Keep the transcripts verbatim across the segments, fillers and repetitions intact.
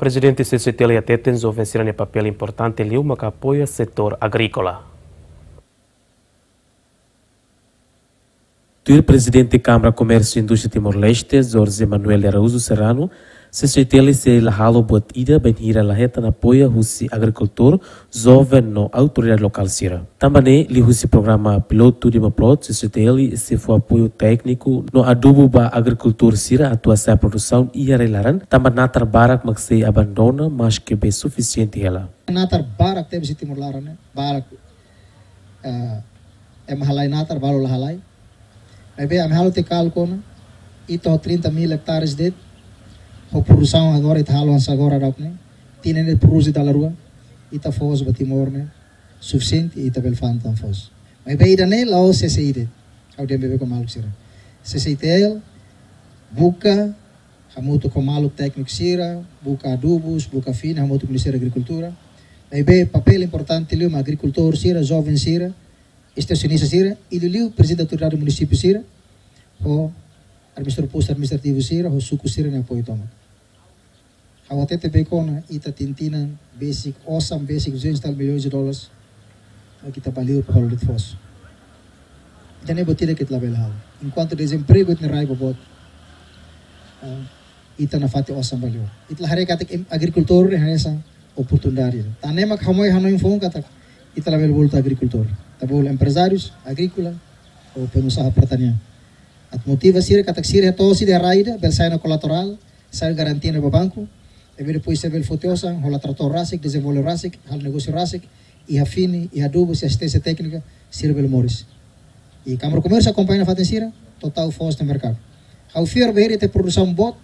Prezidente C C T L hateten joven sira-nia papél importante liu maka apoia setór agríkola. Tuir Prezidente Kámara Komérsiu Indústria Timor-Leste, Jorge Manuel de Araújo Serrano, C C T L sei la halo buat ida bainhira la hetan apoiu husi agrikultór, joven no autoridade lokál sira. Tanba ne'e, liuhusi programa pilotu Demaplot, C C T L sei fó apoiu tékniku no adubu ba agrikultór sira atu hasa'e produsaun iha rai-laran, tanba natar barak mak sei abandona maske be sufisiente hela. Natar barak tebes iha Timor laran ne'e, barak, eh, ema halai natar, balu la halai. Maibé ami halo tiha kálkulu ona, ita ho trinta mil hectares de'it, ho produsaun agora ita halo hanesan agora daudaun ne'e, tinan ne'e produz dala rua, ita fó ba Timor ne'e sufisiente, ita bele fa'an tan foos. Maibé ida-ne'e la'ós C C I de'it, ha'u dehan ba maluk sira. C C T L buka hamutuk ho maluk tékniku sira, buka adubus, buka fini, hamutuk ho Ministériu Agrikultura. Maibé papél importante liu mak agrikultór sira, joven sira, estensionista sira, i liuliu prezidente autoridade munisípiu sira, ho administradór postu administrativu sira, ho suku sira-nia apoiu tomak. Ha'u hatete beibeik ona, ita tinan-tinan besik, osan besik duzentos e tal milhões de dólares, mak ita bá liur para halo de'it foos. Ida-ne'e buat ida ke ita labele halo. Enkuantu dezempregu ita-nia rai boboot, ah, ita nafatin osan bá liur. Ita la haree katak em-, agrikultór ne'e hanesan oportunidade. Tan ne'e mak ha'u hanoin foun katak ita labele bolu agrikultór. Ita bolu emprezárius agríkola ou pengusaha pertanian. Atu motiva sira katak sira to'o sira rai ida, bele sai ona kolaterál, sai garantia ona ba banku, i depois sira bele foti osan, hola tratór rasik, dezenvolve rasik, halo negósiu rasik, iha fini, iha adubus, iha asisténsia téknika, sira bele moris. I Kámara Komérsiu akompaña nafatin sira, to'o tau foos iha merkadu. Ha'u fiar bainhira iha produsaun boot,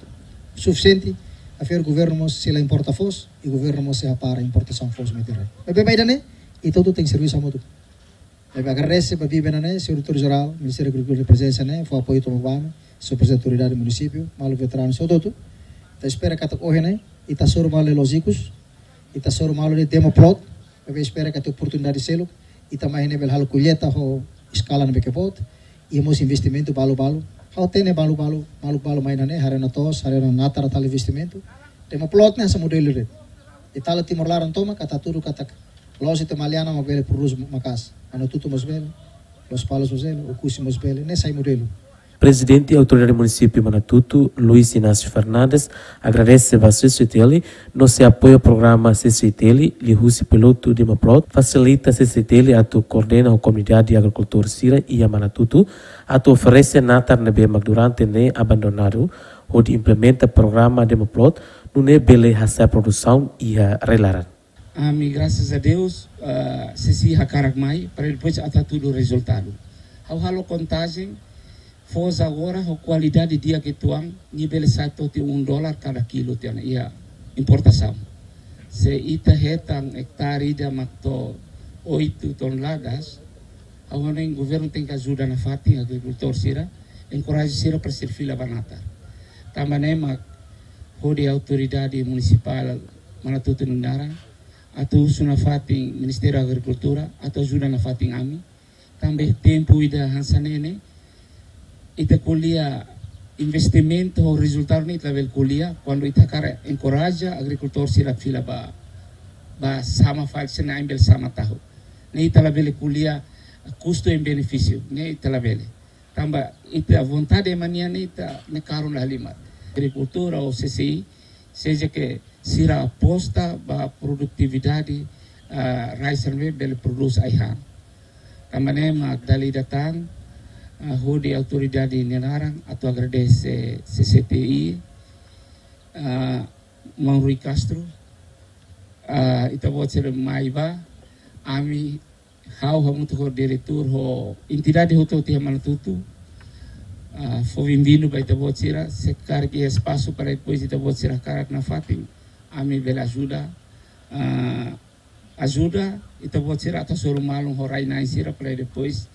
sufisiente, ha'u fiar governu mós sei la importa foos, i governu mós sei hapara importasaun foos mai ita-rai. Maibé ba ida-ne'e, ita hotu tenke servisu hamutuk. Maibé agradese ba bibi ne'e, señór Diretór Jerál, Ministériu Agrikultura prezensa ne'e, fó apoiu tomak ba ami, señór prezidente autoridade munisípiu, maluk veteranu, señór doutór. Ita espera katak ohin ne'e, ita hasoru malu lójikus, ita hasoru malu Demaplot, maibé espera katak oportunidade seluk, ita mai ne'e bele halo kolleita ho eskala ne'ebé ke boot, i mós investimentu balu-balu. Ha'u hatene balu-balu, maluk balu mai ne'e, haree ona to'os, haree ona natar atu halo investimentu. Demaplot ne'e hanesan modelu de'it. Ita halo Timor laran tomak, ita hatudu katak loos ita Maliana mak bele produz maka'as. Manatutu mós bele, Lospalos mós bele, Oekusi mós bele, ne'e sai modelu. Prezidente Autoridade Munisípiu Manatuto, Luis Inácio Fernandes, agradese ba C C T L no sei apoia programa C C T L, liuhusi pilotu Demaplot, fasilita C C T L atu koordena ho komunidade agrikultór sira iha Manatuto, atu oferese natar ne'ebé mak durante ne'e abandonadu, hodi implementa programa Demaplot, nune'e bele hasa'e produsaun iha rai-laran. Ami, grasas a Deus, ah, C C I hakarak mai, para depois atu hatudu rezultadu. Ha'u halo kontajen, foos agora, ho kualidade di'ak uitoan, nia bele sai to'o tiha um dólar kada kilu tiha ona iha importasaun. Se ita hetan ektare ida mak to'o oito toneladas, ha'u hanoin governu tenke ajuda nafatin agrikultór sira, enkoraja sira para sira fila ba natar. Tanba ne'e mak hodi autoridade munisipál Manatuto nia naran, atu husu nafatin Ministériu Agrikultura, atu ajuda nafatin ami. Tanba tempu ida hanesan ne'e ne'e, ita ko'alia investimentu ho rezultadu ne'e ita labele ko'alia, kuandu ita hakarak enkoraja agrikultór sira fila ba, ba sama fali sira-nia ain bele sama tahu. Ne'e ita labele ko'alia kustu no benefísiu, ne'e ita labele. Tanba ita vontade ema nian ne'e ita ne'e karun la halimar. Agrikultura ou C C I, seja ke sira aposta ba produtividade, ah, rai sira ne'ebé bele produz ai-han. Tanba ne'e mak dala ida tan, ah, hodi autoridade nia naran atu agradese C C T I, ah, Maun Rui Castro, ah, ita-boot sira mai ba, ami ha'u hamutuk ho diretór ho entidade hotu-hotu iha Manatuto, ah, fó benvindu ba ita-boot sira, se karik iha espasu para depois ita-boot sira hakarak nafatin, ami bele ajuda, ah, ajuda ita-boot sira atu hasoru malu ho rai-na'in sira para depois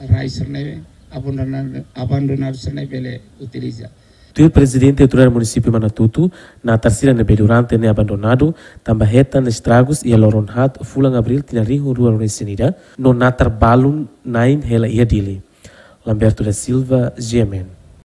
rai sira ne'ebé abandonadu, abandonadu sira ne'e bele utiliza. Tuir Prezidente Autoridade Munisípiu Manatuto, natar sira ne'ebé durante ne'e abandonadu, tanba hetan estragus iha loron haat fulan Abríl tinan rihun rua ruanulu resin ida, no natar balun na'in hela iha Dili. Lamberto da Silva, G M N.